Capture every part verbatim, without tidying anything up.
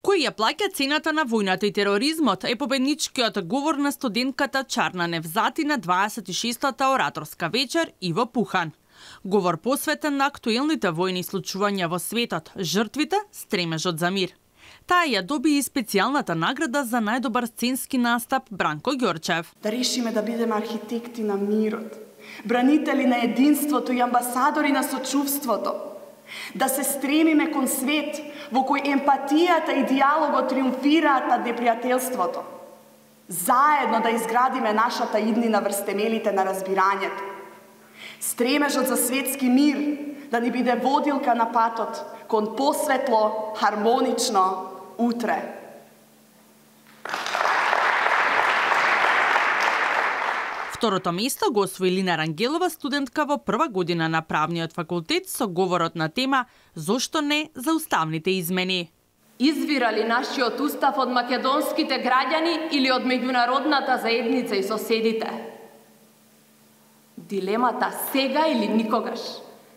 Кој ја плаќа цената на војната и тероризмот е победничкиот говор на студентката Чарна Невзати на дваесет и шестата ораторска вечер Иво Пухан. Говор посветен на актуелните војни случувања во светот, жртвите, стремежот за мир. Таа ја доби и специјалната награда за најдобар сценски настап Бранко Ѓорчев. Да решиме да бидеме архитекти на мирот, бранители на единството и амбасадори на сочувството. Да се стремиме кон свет во кој емпатијата и диалогот триумфираат над непријателството. Заедно да изградиме нашата иднина врз темелите на разбирањето. Стремежот за светски мир да ни биде водилка на патот кон посветло, хармонично утре. Второто место го освои Лина Рангелова, студентка во прва година на правниот факултет, со говорот на тема «Зошто не за уставните измени». Извира ли нашиот устав од македонските граѓани или од меѓународната заедница и соседите? Дилемата сега или никогаш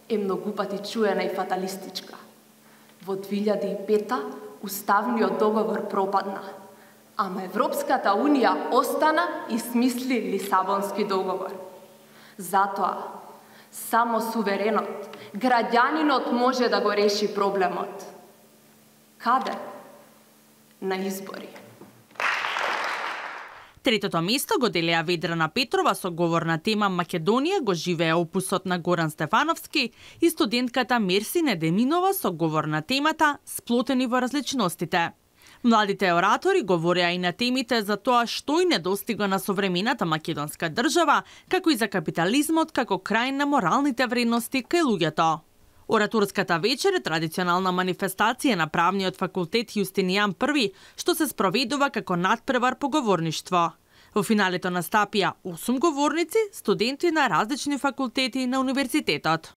е многу пати чуена и фаталистичка. Во две илјади и пета уставниот договор пропадна, ама Европската Унија остана и смисли Лисабонски договор. Затоа, само суверенот, граѓанинот може да го реши проблемот. Каде? На избори. Третото место го делеа Ведрана Петрова со говор на тема Македонија го живее опусот на Горан Стефановски и студентката Мерси Недеминова со говор на темата Сплотени во различностите. Младите оратори говореа и на темите за тоа што и недостига на современата македонска држава, како и за капитализмот како крај на моралните вредности кај луѓето. Ораторската вечер е традиционална манифестација на правниот факултет Јустинијан Први, што се спроведува како надпревар по говорништво. Во финалето настапија осум говорници, студенти на различни факултети на универзитетот.